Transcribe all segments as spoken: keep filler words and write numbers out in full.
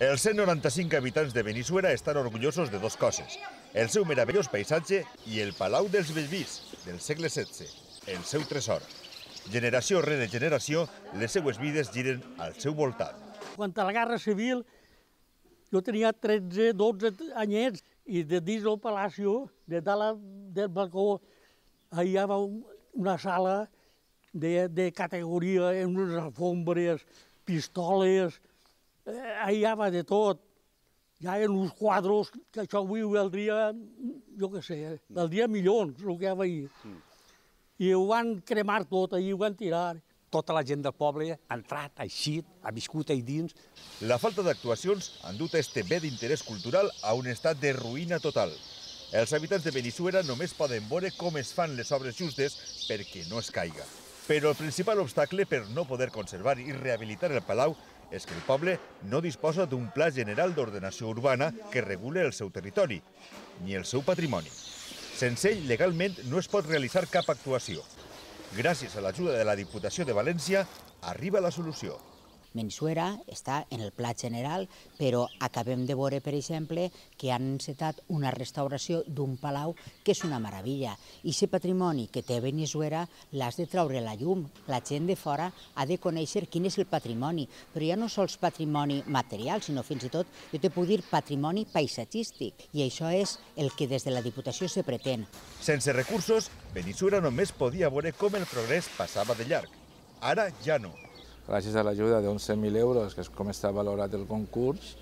Els cent noranta-cinc habitants de Benissuera estan orgullosos de dues coses: el seu meravellós paisatge i el Palau dels Bellvís, del segle setze, el seu tresor. Generació rere generació, les seues vides giren al seu voltant. Quan a la Guerra Civil jo tenia tretze, dotze anyets i de dins del palacio, de dalt del balcó, hi havia una sala de, de categoria, amb unes alfombres, pistoles, eh, hi havia de tot. Hi havia uns quadros que això avui ho valdria, jo què sé, valdria milions, el que hi havia ahir. I ho van cremar tot, i ho van tirar. Tota la gent del poble ha entrat, ha eixit, ha viscut ahí dins. La falta d'actuacions han dut este bé d'interès cultural a un estat de ruïna total. Els habitants de Benissuera només poden veure com es fan les obres justes perquè no es caiga. Però el principal obstacle per no poder conservar i rehabilitar el palau és que el poble no disposa d'un pla general d'ordenació urbana que regule el seu territori, ni el seu patrimoni. Sense ell, legalment, no es pot realitzar cap actuació. Gràcies a l'ajuda de la Diputació de València, arriba la solució. Benissuera està en el pla general, però acabem de veure, per exemple, que han encetat una restauració d'un palau que és una meravella. I aquest patrimoni que té Benissuera l'has de treure a la llum. La gent de fora ha de conèixer quin és el patrimoni, però ja no sols patrimoni material, sinó fins i tot, jo te puc dir, patrimoni paisatgístic. I això és el que des de la Diputació se pretén. Sense recursos, Benissuera només podia veure com el progrés passava de llarg. Ara ja no. Gràcies a l'ajuda d'onze mil euros, que és com està valorat el concurs,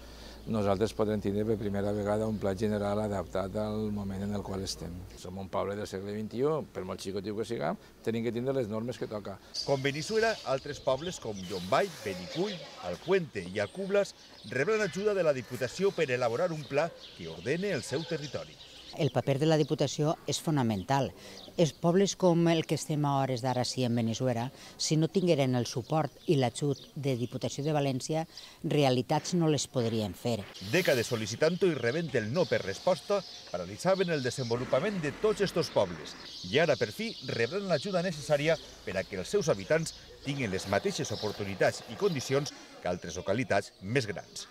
nosaltres podem tindre per primera vegada un pla general adaptat al moment en el qual estem. Som un poble del segle vint-i-u, per molt xicotiu que siguem, tenim que tindre les normes que toca. Com Benissuera, altres pobles com Llombai, Benicull, Alpuente i Alcublas rebran ajuda de la Diputació per elaborar un pla que ordene el seu territori. El paper de la Diputació és fonamental. Els pobles com el que estem a hores d'ara sí en Benissuera, si no tingueren el suport i l'ajut de Diputació de València, realitats no les podrien fer. Dècades sol·licitant-ho i rebent el no per resposta, paralitzaven el desenvolupament de tots estos pobles. I ara, per fi, rebran l'ajuda necessària per a que els seus habitants tinguin les mateixes oportunitats i condicions que altres localitats més grans.